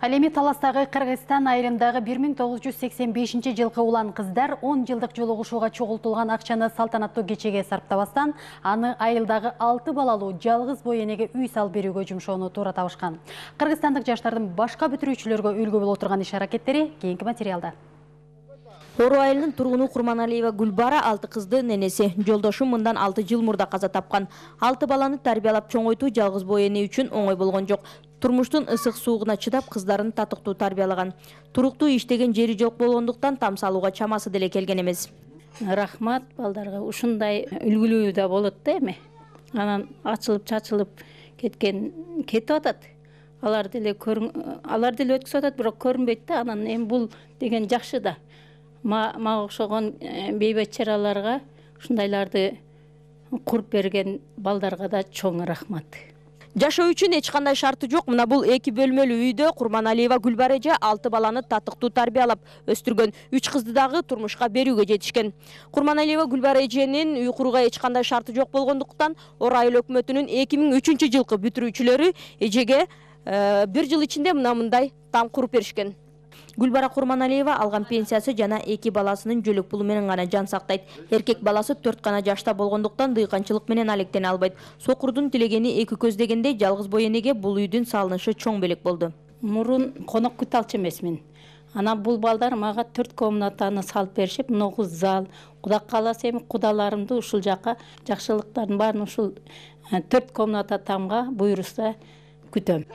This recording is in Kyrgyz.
Ал эми Таластагы Кыргызстан айрымдагы 1985 жылкы улан кыздар 10 жылдык жолугушууга чогултулган акчаны салтанаттуу кечеге сарптабастан, аны айылдагы 6 балалуу жалгыз бой энеге үй салып берүүгө жумшоону туура табышкан. Кыргызстандык жаштардын башка бүтүрүүчүлөргө үлгү боло турган иш-аракеттери кийинки материалда. Ору айылынын тургуну Курманалиева Гүлбара 6 кыздын энеси. Жолдошу мындан 6 жыл мурда каза тапкан. 6 баланы тарбиялап чоңойтуу жалгыз бой эне үчүн оңой болгон жок. Турмуштун ысык суугуна чыдап кыздарын татыктуу тарбиялаган. Туруктуу иштеген жери жок болгондуктан там салууга чамасы деле келген эмес. Рахмат балдарга, ушундай үлгүлүү да болот да эми. Анан ачылып чачылып кетип атат. Алар деле өткүзүп атат, бирок көрүнбөйт да. Анан эми бул деген жакшы да. Мага окшогон бейбечараларга, ушундайларды куруп берген балдарга да чоң рахмат. Жашоо үчүн эч кандай шарты жок. Мына бул 2 бөлмөлүү үйдө Курманалиева Гүлбара эже 6 баланы татыктуу тарбиялап өстүргөн. 3 кызды дагы турмушка берүүгө жетишкен. Курманалиева Гүлбара эженин үй курууга эч кандай шарты жок болгондуктан Ору айыл өкмөтүнүн 2003 жылкы бүтүрүүчүлөрү эжеге 1 жыл ичинде мындай там куруп беришкен. Гүлбара Курманалиева алган пенсиясы жана 2 баласынын жөлөк пулу менен гана жан сактайт. Эркек баласы 4 гана жашта болгондуктан дыйканчылык менен алектене албайт. Сокурдун тилегени эки көз дегендей жалгыз бой энеге бул үйдүн салынышы чоң белек болду. Мурун конок күтө алчу эмесмин. Анан бул балдар мага 4 комнатаны салып беришип, 9 зал. Кудай кааласа эми кудаларымды ушул жака жакшылыктардын баарын ушул 4 комната тамга буйруса күтөм.